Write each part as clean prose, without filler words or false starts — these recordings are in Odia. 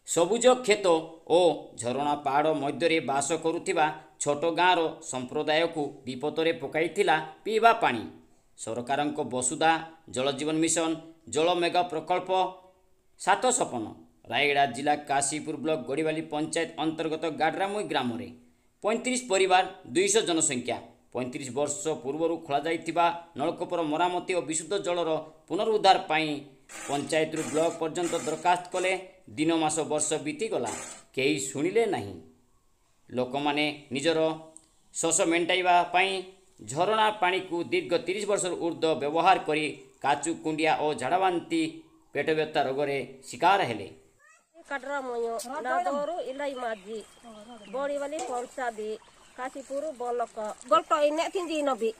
ସବୁଜ କ୍ଷେତ ଓ ଝରଣା ପାହାଡ଼ ମଧ୍ୟରେ ବାସ କରୁଥିବା ଛୋଟ ଗାଁର ସମ୍ପ୍ରଦାୟକୁ ବିପଦରେ ପକାଇଥିଲା ପିଇବା ପାଣି। ସରକାରଙ୍କ ବସୁଧା, ଜଳଜୀବନ ମିଶନ, ଜଳ ମେଗା ପ୍ରକଳ୍ପ ସାତ ସପନ। ରାୟଗଡ଼ା ଜିଲ୍ଲା କାଶୀପୁର ବ୍ଲକ ଗଡ଼ିବାଲି ପଞ୍ଚାୟତ ଅନ୍ତର୍ଗତ ଗାଡ୍ରାମୁଇ ଗ୍ରାମରେ 35 ପରିବାର, 200 ଜନସଂଖ୍ୟା। 35 ବର୍ଷ ପୂର୍ବରୁ ଖୋଳାଯାଇଥିବା ନଳକୂପର ମରାମତି ଓ ବିଶୁଦ୍ଧ ଜଳର ପୁନରୁଦ୍ଧାର ପାଇଁ ପଞ୍ଚାୟତରୁ ବ୍ଲକ ପର୍ଯ୍ୟନ୍ତ ଦରଖାସ୍ତ କଲେ। ଦିନ, ମାସ, ବର୍ଷ ବିତିଗଲା, କେହି ଶୁଣିଲେ ନାହିଁ। ଲୋକମାନେ ନିଜର ଶୋଷ ମେଣ୍ଟାଇବା ପାଇଁ ଝରଣା ପାଣିକୁ ଦୀର୍ଘ 30 ବର୍ଷରୁ ଉର୍ଦ୍ଧ୍ୱ ବ୍ୟବହାର କରି କାଚୁ, କୁଣ୍ଡିଆ ଓ ଝାଡ଼ାବାନ୍ତି, ପେଟବ୍ୟଥା ରୋଗରେ ଶିକାର ହେଲେ। କଡରାମୟ ନାଦରୁ ଇলাই ମାଝି, ବଡ଼ିବାଲି ପଞ୍ଚାଦି, କାଶୀପୁର ବଲକ। ଗଲ୍ଟ ଇନେ ତିଞ୍ଜି Nabi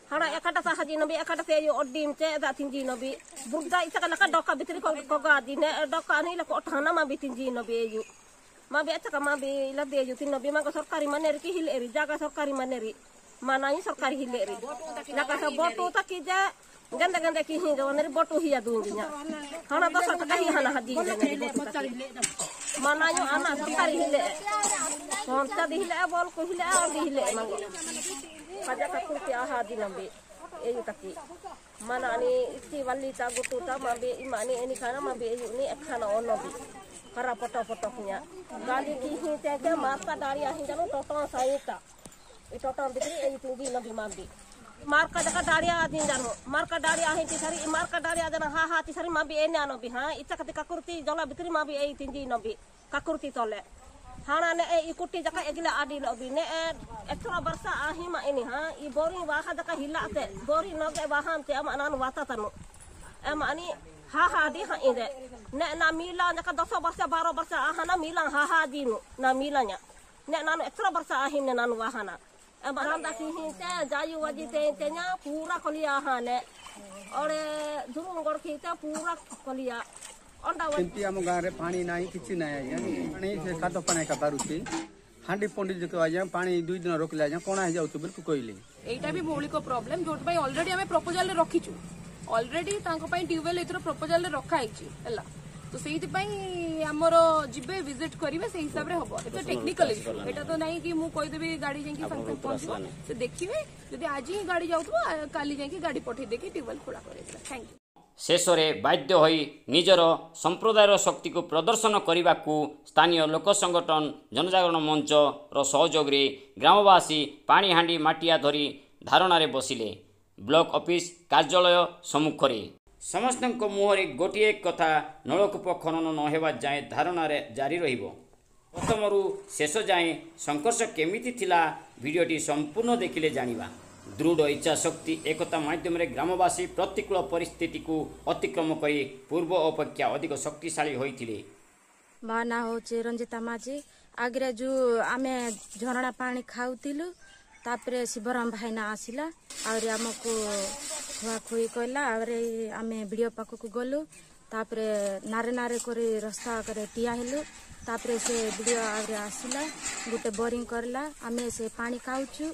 hana ekata sa haji nabi ekata se yo odim che da tinji nabi burda isa kana ka doka bitri ko ko ga di ne doka ani la ko thana ma bi tinji nabi eyu ma bi acha ka ma bi la de yu tin nabi ma ko sarkari maneri ki hil eri jaga sarkari maneri manai sarkari hil eri la ka sa botu ta ki ja ganda ganda ki hi jawaneri botu hiya duinginya hana dosa ta hi hana haji ne botu ta manayo ana sarkari hile konta di hile bol ko hile ar di hile mango kaja kakurti aha di nambe eyu taki mana ani isti walli ta gutu ta mabe imani eni khana mabe eyu ni ekhana onobi kara poto poto punya gali ki hi te ke marka dari ahi jano toto saita i toto bitri eyu tinggi nabi mabe marka jaka dari adin jano marka dari ahi ti sari marka dari adana ha ha ti sari mabe ene anobi ha icha kati kakurti jola bitri mabe eyu tinggi nabi kakurti tole hana ne e ikuti jaka egila adi lobi ne extra barsa ahi ma ini ha i bori waha jaka hila te bori noge waham te ama anan wata tanu ama ani ha ha di ha ide ne na mila jaka 10 barsa 12 barsa ahana mila ha ha di nu na milanya ne nanu extra barsa ahi ne nanu wahana ama randa ki hinte jayu waji te te nya pura kolia ha ne ore durung gor ki te pura kolia। ସେମିତି ଆମ ଗାଁରେ ପାଣି ନାହିଁ, କିଛି ନାହିଁ ଆଜ୍ଞା। ପାଣି ସେ କାଦ ପାଣି ଏକା ବାହାରୁଛି। ହାଣ୍ଡି ପଣ୍ଡି ଆଜ୍ଞା ପାଣି 2 ଦିନ ରଖିଲେ ଆଜ୍ଞା କଣା ହେଇଯାଉଛି ବୋଲି କହିଲେ। ଏଇଟା ବି ମୌଳିକ ପ୍ରୋବ୍ଲେମ, ଯୋଉଥିପାଇଁ ଅଲରେଡି ଆମେ ପ୍ରପୋଜାଲରେ ରଖିଛୁ। ଅଲରେଡି ତାଙ୍କ ପାଇଁ ଟ୍ୟୁବୱେଲ ଏଥର ପ୍ରପୋଜାଲରେ ରଖା ହେଇଛି ହେଲା। ତ ସେଇଥିପାଇଁ ଆମର ଯିବେ ଭିଜିଟ କରିବେ, ସେଇ ହିସାବରେ ହବ। ଏତ ଟେକ୍ନିକାଲ ଇସ୍ୟୁ, ଏଇଟା ତ ନାହିଁ କି ମୁଁ କହିଦେବି ଗାଡି ଯାଇକି ସାଙ୍ଗେ ସାଙ୍ଗେ ପହଞ୍ଚିବ। ସେ ଦେଖିବେ, ଯଦି ଆଜି ହିଁ ଗାଡି ଯାଉଥିବ କାଲି ଯାଇକି ଗାଡି ପଠେଇ ଦେଇକି ଟ୍ୟୁବୱେଲ ଖୋଳା କରେଇଦେବେ। Thank you. ଶେଷରେ ବାଧ୍ୟ ହୋଇ ନିଜର ସମ୍ପ୍ରଦାୟର ଶକ୍ତିକୁ ପ୍ରଦର୍ଶନ କରିବାକୁ ସ୍ଥାନୀୟ ଲୋକ ସଂଗଠନ ଜନଜାଗରଣ ମଞ୍ଚର ସହଯୋଗରେ ଗ୍ରାମବାସୀ ପାଣି ହାଣ୍ଡି ମାଟିଆ ଧରି ଧାରଣାରେ ବସିଲେ ବ୍ଲକ ଅଫିସ କାର୍ଯ୍ୟାଳୟ ସମ୍ମୁଖରେ। ସମସ୍ତଙ୍କ ମୁହଁରେ ଗୋଟିଏ କଥା, ନଳକୂପ ଖନନ ନ ହେବା ଯାଏଁ ଧାରଣାରେ ଜାରି ରହିବ। ପ୍ରଥମରୁ ଶେଷ ଯାଏଁ ସଂଘର୍ଷ କେମିତି ଥିଲା ଭିଡ଼ିଓଟି ସମ୍ପୂର୍ଣ୍ଣ ଦେଖିଲେ ଜାଣିବା। ଦୃଢ଼ ଇଚ୍ଛାଶକ୍ତି, ଏକତା ମାଧ୍ୟମରେ ଗ୍ରାମବାସୀ ପ୍ରତିକୂଳ ପରିସ୍ଥିତିକୁ ଅତିକ୍ରମ କରି ପୂର୍ବ ଅପେକ୍ଷା ଅଧିକ ଶକ୍ତିଶାଳୀ ହୋଇଥିଲେ। ମୋ ନାଁ ହେଉଛି ରଞ୍ଜିତା ମାଝୀ। ଆଗରେ ଯେଉଁ ଆମେ ଝରଣା ପାଣି ଖାଉଥିଲୁ, ତାପରେ ଶିବରାମ ଭାଇନା ଆସିଲା, ଆହୁରି ଆମକୁ ଖୁଆଖୁଇ କହିଲା। ଆହୁରି ଆମେ ବିଡ଼ିଓ ପାଖକୁ ଗଲୁ, ତାପରେ ନାରେ ନାରେ କରି ରାସ୍ତା କରି ଠିଆ ହେଲୁ। ତାପରେ ସେ ବିଡ଼ିଓ ଆହୁରି ଆସିଲା, ଗୋଟେ ବୋରିଂ କରିଲା, ଆମେ ସେ ପାଣି ଖାଉଛୁ।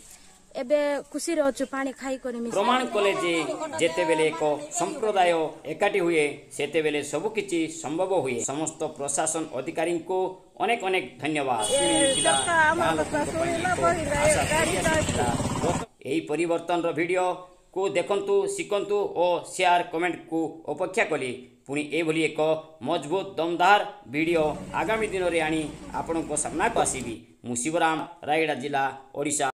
ଏବେ ଖୁସିରେ ଅଛୁ ପାଣି ଖାଇକରି। ପ୍ରମାଣ କଲେ ଯେ ଯେତେବେଳେ ଏକ ସମ୍ପ୍ରଦାୟ ଏକାଠି ହୁଏ, ସେତେବେଳେ ସବୁକିଛି ସମ୍ଭବ ହୁଏ। ସମସ୍ତ ପ୍ରଶାସନ ଅଧିକାରୀଙ୍କୁ ଅନେକ ଅନେକ ଧନ୍ୟବାଦ। ଏହି ପରିବର୍ତ୍ତନର ଭିଡ଼ିଓକୁ ଦେଖନ୍ତୁ, ଶିଖନ୍ତୁ ଓ ସେୟାର କମେଣ୍ଟକୁ ଅପେକ୍ଷା କଲି। ପୁଣି ଏଭଳି ଏକ ମଜବୁତ ଦମଦାର ଭିଡ଼ିଓ ଆଗାମୀ ଦିନରେ ଆଣି ଆପଣଙ୍କ ସାମ୍ନାକୁ ଆସିବି। ମୁଁ ଶିବରାମ, ରାୟଗଡ଼ା ଜିଲ୍ଲା, ଓଡ଼ିଶା।